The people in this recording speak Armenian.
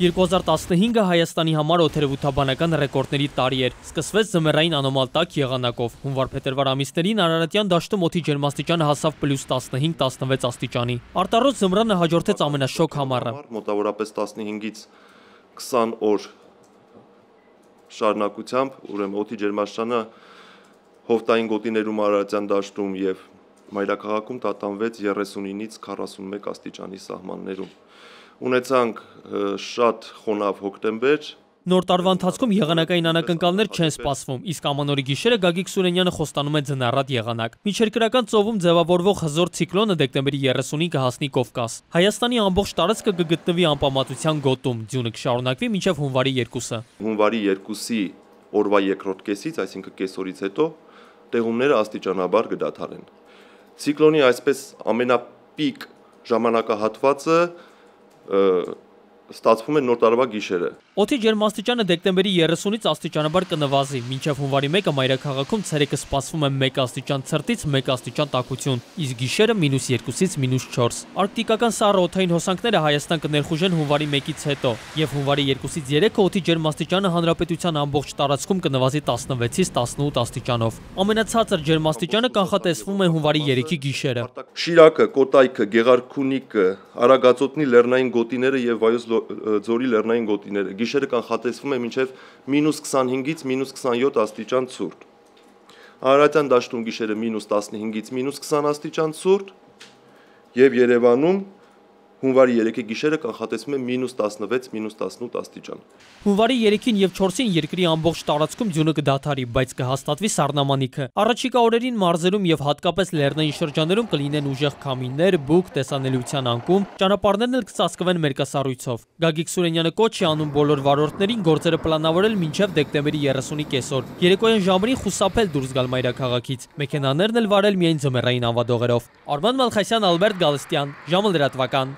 2015-ը Հայաստանի համար օդերևութաբանական ռեկորդների տարի էր։ Սկսվեց ձմեռային անոմալ տաք եղանակով։ Հունվար-փետրվար ամիսներին Արարատյան դաշտում օդի ջերմաստիճանը հասավ +15-16 աստիճանի։ Արտառոց ձմռանը հաջորդեց ամենաշոգ համառը։ Մոտավորապես 15-ից 20 օր շարունակությամբ, ուրեմն օդի ջերմաստիճանը հովտային գոտիներում Արարատյան դաշտում եւ մայրաքաղաքում տատանվեց 39-ից 41 աստիճանի սահմաններում։ Ունեցանք շատ խոնավ հոկտեմբեր։ Նոր տարվա ընթացքում եղանակային անակնկալներ չեն սպասվում, իսկ ամանորի գիշերը Գագիկ Սուրենյանը խոստանում է ձնառատ եղանակ։ Միջերկրական ծովում ձևավորվող հզոր ցիկլոնը դեկտեմբերի 30-ին կհասնի Կովկաս։ Հայաստանի ամբողջ տարածքը կգտնվի անպամատության գոտում, ձյունը կշարունակվի մինչև հունվարի 2-ը։ Հունվարի 2-ի օրվա երկրորդ կեսից, այսինքն կեսօրից հետո, տեղումները աստիճանաբար կդադարեն։ Ցիկլոնի այսպես ամենապիկ ժամանակահատվածը ստացվում է նոր տարվա գիշերը։ Օդի ջերմաստիճանը դեկտեմբերի 30-ից աստիճանաբար կնվազի, մինչև հունվարի 1-ը մայրաքաղաքում ցերեկը սպասվում է 1 աստիճան ցրտից 1 աստիճան տաքություն, իսկ գիշերը -2-ից -4։ Արկտիկական սառը օդային հոսանքները Հայաստան կներխուժեն հունվարի 1-ից հետո, եւ հունվարի 2-ից 3-ը օդի ջերմաստիճանը հանրապետության ամբողջ տարածքում կնվազի 16-ից 18 աստիճանով։ Ամենացածր ջերմաստիճանը կանխատեսվում է հունվարի 3-ի գիշերը։ Շիրակը, Կոտայքը, Գեղարքունիքը, Արագածոտնի լեռնային գոտիները եւ Վայոց ձորի լեռնային գոտիները գիշերը կանխատեսվում է մինչև -25-ից -27 աստիճան ցուրտ։ Արարատյան դաշտում գիշերը -15-ից -20 աստիճան ցուրտ եւ Երևանում հունվարի 3-ի գիշերը կանխատեսվում է -16, -18 աստիճան։ Հունվարի 3-ին եւ 4-ին երկրի ամբողջ տարածքում ձյունը կդադարի, բայց կհաստատվի սառնամանիքը։ Առաջիկա օրերին մարզերում եւ հատկապես լեռնային շրջաներում կլինեն ուժեղ քամիներ, բուք, տեսանելիության անկում, ճանապարհներն էլ կծածկվեն մերկասառույցով։ Գագիկ Սուրենյանը կոչ է անում բոլոր վարորդներին գործերը պլանավորել մինչև դեկտեմբերի 30-ի կեսօր։ Երեկոյան ժամերին խուսափել դուրս գալ մայրաքաղաքից։ Մեքենաներն էլ վարել միայն ձմեռային անվադողերով։ Արման Մալխասյան, Ալբերտ Գալստյան, ժամը լրատվական։